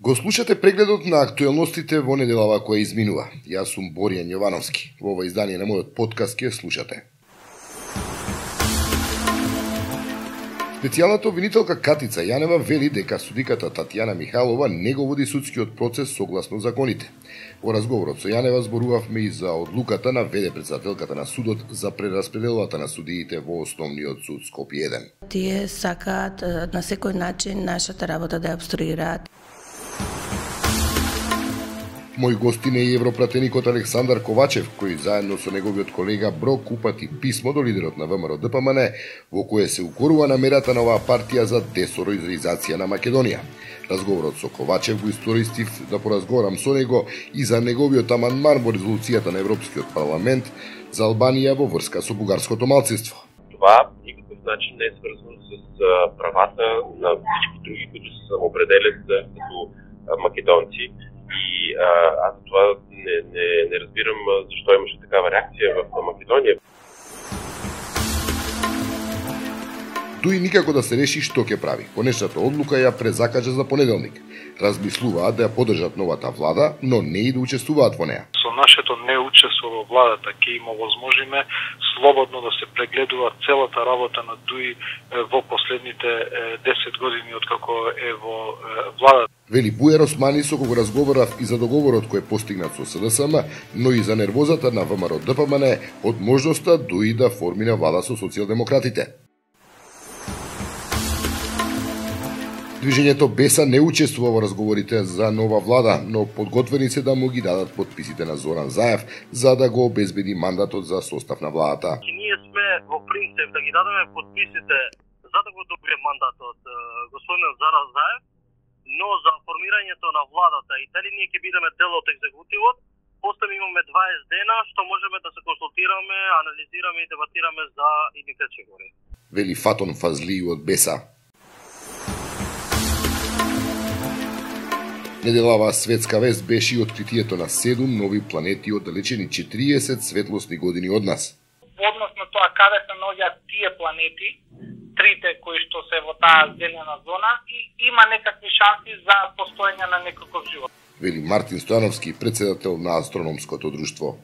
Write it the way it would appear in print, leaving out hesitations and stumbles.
Го слушате прегледот на актуелностите во неделава која изминува. Јас сум Боријан Јовановски. Во ова издание на мојот подкаст ќе слушате. Специјалната обвинителка Катица Јанева вели дека судиката Татјана Михайлова не го води судскиот процес согласно законите. Во разговорот со Јанева зборувавме и за одлуката на ВД председателката на судот за прераспределата на судиите во Основниот суд Скопје 1. Тие сакаат на секој начин нашата работа да ја обструираат. Мој гостин е европратеникот Александар Ковачев, кој заедно со неговиот колега Брок упати писмо до лидерот на ВМРО ДПМН, во кое се укорува намерата на оваа партија за десороизација на Македонија. Разговорот со Ковачев го истористив да поразговарам со него и за неговиот амандман во резолуцијата на Европскиот парламент за Албанија во врска со бугарското малцинство. Това никаков начин не е сврзано с правата на всички други, които се самоопределят като македонци. И аз за това не разбирам защо имаше такава реакция в Македонија. Дуи никако да се реши што ќе прави. Конечната одлука ја презакажа за понеделник. Размислуваат да ја поддржат новата влада, но не и да учествуваат во неа. Со нашето неучество во владата ќе им овозможиме слободно да се прегледува целата работа на ДУИ во последните 10 години откако е во владата. Вели Бујар Османи, со кого разговарав и за договорот кој е постигнат со СДСМ, но и за нервозата на ВМРО ДПМН од можноста ДУИ да формира влада со социјалдемократите. Движењето Беса не учествува во разговорите за нова влада, но подготвени се да му ги дадат подписите на Зоран Заев за да го обезбеди мандатот за состав на владата. Ние сме во принцип да ги дадеме подписите за да го добие мандатот господин Зоран Заев, но за формирањето на владата и дали ние ќе бидеме дел од екзекутивот, после имаме 20 дена што можеме да се консултираме, анализираме и дебатираме за идните чекори. Вели Фатон Фазли од Беса. Неделава светска вест беше и откритието на 7 нови планети оддалечени 40 светлосни години од нас. Односно тоа каде се наоѓаат тие планети, трите кои што се во таа зелена зона и има некакви шанси за постоење на некаков живот. Вели Мартин Стојановски, председател на Астрономското друштво.